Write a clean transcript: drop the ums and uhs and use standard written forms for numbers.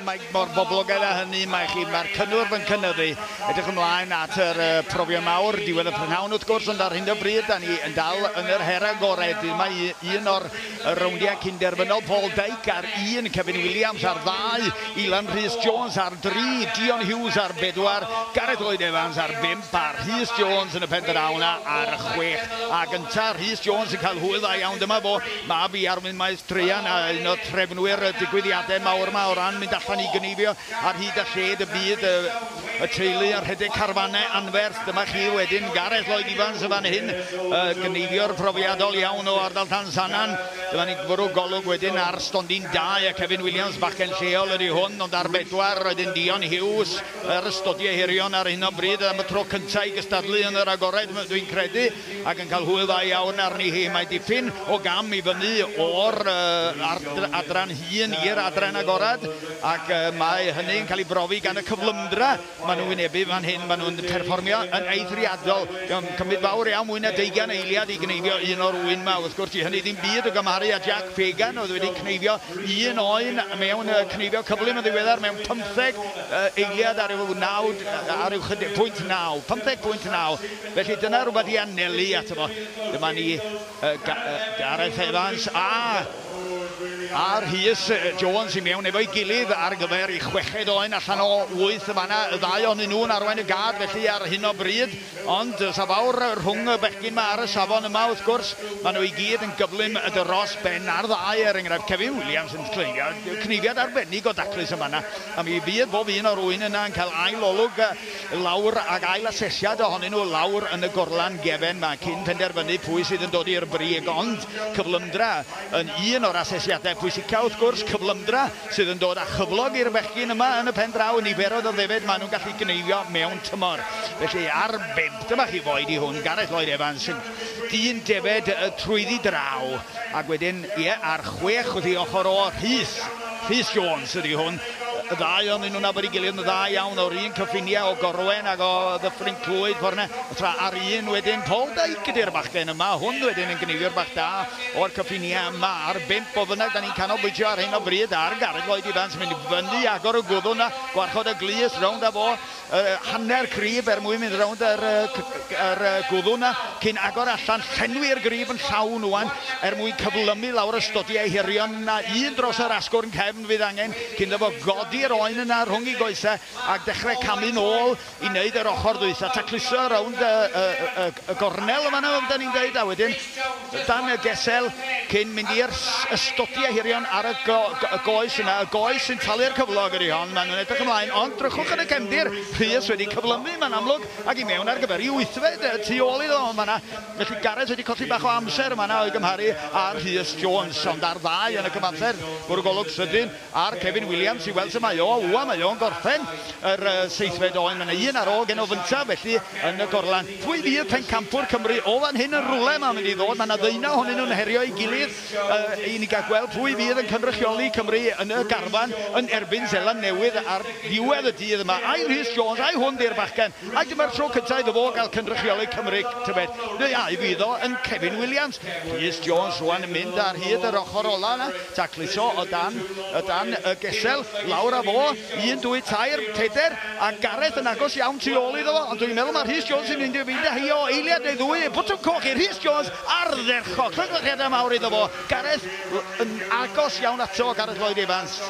Mae mor boblogaidd â hynny, mae chi, mae'r cynnwrf yn cynyddu. Edrych ymlaen at yr profion mawr, diwedd y prynhawn wrth gwrs, ond ar hyn o bryd, da ni yn dal yn yr her agored. Mae un o'r rowndiau cynderfynol, Paul Dyke ar 1, Kevin Williams ar 2, Ilan Rhys Jones ar 3, Dion Hughes ar 4, Gareth Lloyd Evans ar 5, a Rhys Jones yn y pen draw 'na ar 6. A gynta Rhys Jones yn cael hwyl dda iawn, dyma fo, mab i Arwyn Maes Treian, a un o'r trefnwyr y digwyddiadau mawr yma o ran mynd allan i gneifio ar hyd a lled y byd, y teulu yn rhedeg carfanau anferth. Dyma chi wedyn Gareth Lloyd Evans yn fan hyn, gneifiwr profiadol iawn o ardal Llansannan. Dyma ni'n bwrw golwg wedyn ar stondin 2 a Kevin Williams, bachgen lleol ydy hwn, ond ar 4 wedyn Dion Hughes, yr ystodiau hirion ar hyn o bryd am y tro cyntaf i gystadlu yn yr agored, dwi'n credu, ac yn cael hwyl dda iawn arni hi. Mae dipyn o gam i fyny o'r adran hŷn i'r adran agorad, ac mae hynny'n cael ei brofi gan y cyflymdra maen nhw'n wynebu fan hyn. Maen nhw'n perfformio yn eithriadol. Mae'n cymryd fawr iawn, mwy na 20 eiliad i gneifio un o'r ŵyn 'ma. Wrth gwrs, 'di hynny ddim byd o gymharu â Jack Fagan, oedd wedi cneifio un oen mewn cneifio cyflym yn ddiweddar mewn 15 eiliad ar ryw naw, ar ryw chydig, pwynt naw, 15.9. Felly dyna rhywbeth i anelu ato fo. Dyma ni Gareth Evans a Rhys Jones i mewn efo'i gilydd ar gyfer ei chweched oen allan o 8 yn fanna. Y ddau ohonyn nhw'n arwain y gad felly ar hyn o bryd, ond sa fawr rhwng y bechgyn 'ma ar y safon yma wrth gwrs. Maen nhw i gyd yn gyflym dros ben ar ddau, er enghraifft Kevin Williams yn cneifio, cneifiad arbennig o daclus yn fanna. A mi fydd bob un o'r ŵyn yna yn cael ail olwg lawr ac ail asesiad ohonyn nhw lawr yn y gorlan gefen 'ma cyn penderfynu pwy sydd yn dod i'r brig, ond cyflymdra yn un o'r asesiadau pwysica wrth gwrs, cyflymdra sydd yn dod â chyflog i'r bechgyn yma yn y pen draw, niferoedd o ddefed maen nhw'n gallu gneifio mewn tymor. Felly ar bump, dyma chi foed i hwn, Gareth Lloyd Evans, dyn defed trwyddi draw, ac wedyn, ie, ar 6 wrth ei ochr o, Rhys, Rhys Jones ydy hwn. Y ddau ohonyn nhw'n nabod ei gilydd yn dda iawn o'r un cyffiniau o Gorwen ac o Ddyffryn Clwyd ffordd yna. Tra ar un wedyn Paul Dyke ydy'r bachgen yma. Hwn wedyn yn gneifiwr bach da o'r cyffiniau yma. Ar 5 o fynnag, da ni'n canolbwyntio ar hyn o bryd ar Gareth Lloyd Evans mynd fyny, agor y gwddw yna, gwarchod y glust, rownd â fo, hanner crib er mwyn mynd rownd yr gwddw 'na cyn agor allan, llenwi'r grib yn llawn ŵan er mwyn cyflymu lawr y stodiau hirion 'na, un dros yr asgwrn cefn fydd angen cyn iddo fo godi'r oen yna rhwng ei goesau a dechrau camu nôl i wneud yr ochr ddwytha, tacluso rownd y gornel yn fan'na fel 'dan ni'n deud a wedyn dan y gesel cyn mynd i'r ystodiau hirion ar y goes yna. Y goes sy'n talu'r cyflog ydy hon. Maen nhw'n edrych ymlaen, ond drychwch yn y cefndir, Rhys wedi cyflymu, mae'n amlwg, ac i mewn ar gyfer ei wythfed tu ôl iddo yn fan'na. Felly Gareth wedi colli bach o amser yn fan'na o'i gymharu â Rhys Jones, ond ar ddau yn y cyfamser, bwrw golwg sydyn ar Kevin Williams i weld sut mae o. Ŵan mae o'n gorffen yr seithfed oen. Mae 'na un ar ôl gen o fynta felly yn y gorlan. Pwy fydd pencampwr Cymru o fan hyn yn rwle mae'n mynd i ddod? Mae 'na ddeunaw ohonyn nhw'n herio ei gilydd i ni gael gweld pwy fydd yn cynrychioli Cymru yn y garfan yn erbyn Seland Newydd ar ddiwedd y dydd yma. Ai Rhys Jones, ai hwn 'di'r bachgen? Ai dyma'r tro cyntaf iddo fo gael cynrychioli Cymru, tybed? Neu ai fydd o yn Kevin Williams? Rhys Jones rwan yn mynd ar hyd yr ochr ola yna, tacluso o dan y gesel, lawr â fo, un, dwy, tair, peder, a Gareth yn agos iawn tu ôl iddo fo, ond dwi'n meddwl mae Rhys Jones yn mynd i fynd â hi o eiliad neu ddwy, botwm coch i Rhys Jones, ardderchog, llongyfarchiadau mawr iddo fo, Gareth yn agos iawn ato, Gareth Lloyd Evans.